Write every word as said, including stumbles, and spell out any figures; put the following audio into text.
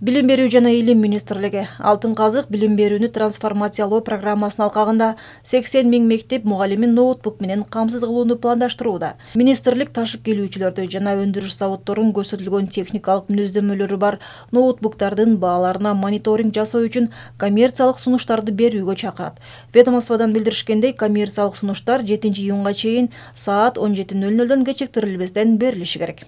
Билим берүү жана илим министрлиги Алтын казык билим берүүнү трансформациялоо программасынын алкагында сексен миң мектеп мугалимин ноутбук менен камсыз кылууну пландаштырууда. Министрлик ташып келүүчүлөрдү жана өндүрүш заводдорунун көрсөтүлгөн техникалык мүнөздөмөлөрү бар ноутбуктардын бааларына мониторинг жасоо үчүн коммерциялык сунуштарды берүүгө чакырат. Ведомстводон билдиришкендей, коммерциялык сунуштар жетинчи июнга чейин саат он жети нөл нөлдөн кечиктирилбестен берилиши керек.